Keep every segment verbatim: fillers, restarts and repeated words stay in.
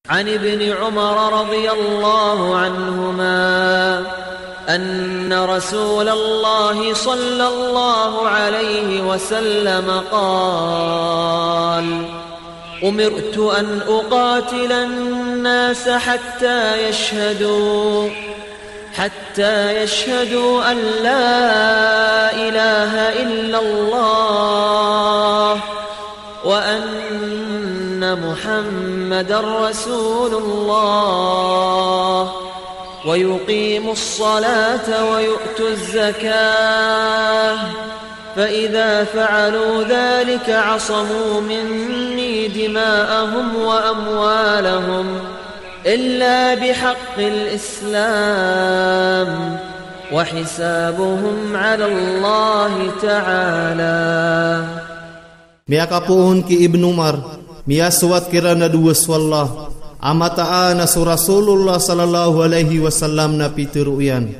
عن ابن عمر رضي الله عنهما أن رسول الله صلى الله عليه وسلم قال: أمرت أن أقاتل الناس حتى يشهدوا، حتى يشهدوا أن لا إله إلا الله وأن محمدا رسول الله، ويقيموا الصلاة ويؤتوا الزكاة، فإذا فعلوا ذلك عصموا مني دماءهم وأموالهم إلا بحق الإسلام وحسابهم على الله تعالى. Miyakapoon ki Ibn Umar, miyasoat kiran a dowa so Allah, a mataan a so Rasulullah sallallahu alaihi wasallam na pitharo iyan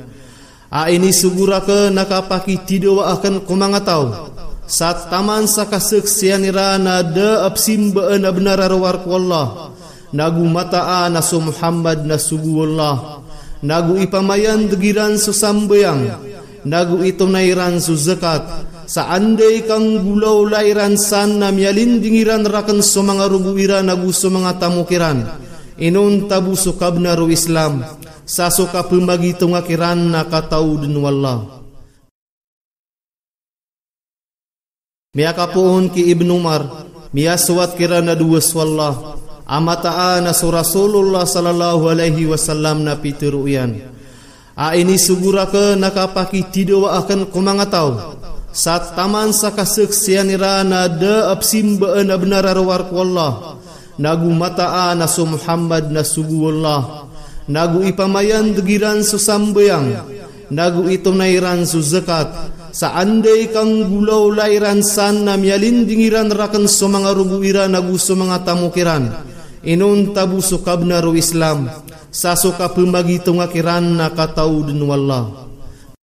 a inisogo rakn a kapakithidawa akn ko manga taw sa taman sa kasaksian iran a da a pzimbaan a bnar a rowar ko Allah, nago mataan a so Muhammad na sogo o Allah, nago ipamayandg iran so sambayang, nago itonay iran so zakat, sa anda i kanggolawla iran san na miyalinding iran rakn so manga rogo iran ago so manga tamok iran, inonta bo so kabnar o Islam, sa so kapmagitonga kiran na kataod o Allah. Miyakapoon ki Ibn Umar, miyasoat kiran a dowa so Allah, a mataan a so Rasulullah sallallahu alaihi wasallam na pitharo iyan a inisogo rakn a kapakithidawa akn ko manga taw sa taman sa kasaksian iran a da a pzimbaan a bnar a rowar ko Allah, nago mataan a so Muhammad na sogo o Allah, nago ipamayandg iran so sambayang, nago itonay iran so zakat, sa anda i kanggolawla iran san na miyalinding iran rakn so manga rogo iran ago so manga tamok iran, inonta bo so kabnar o Islam, sa so kapmagitonga kiran na kataod o Allah.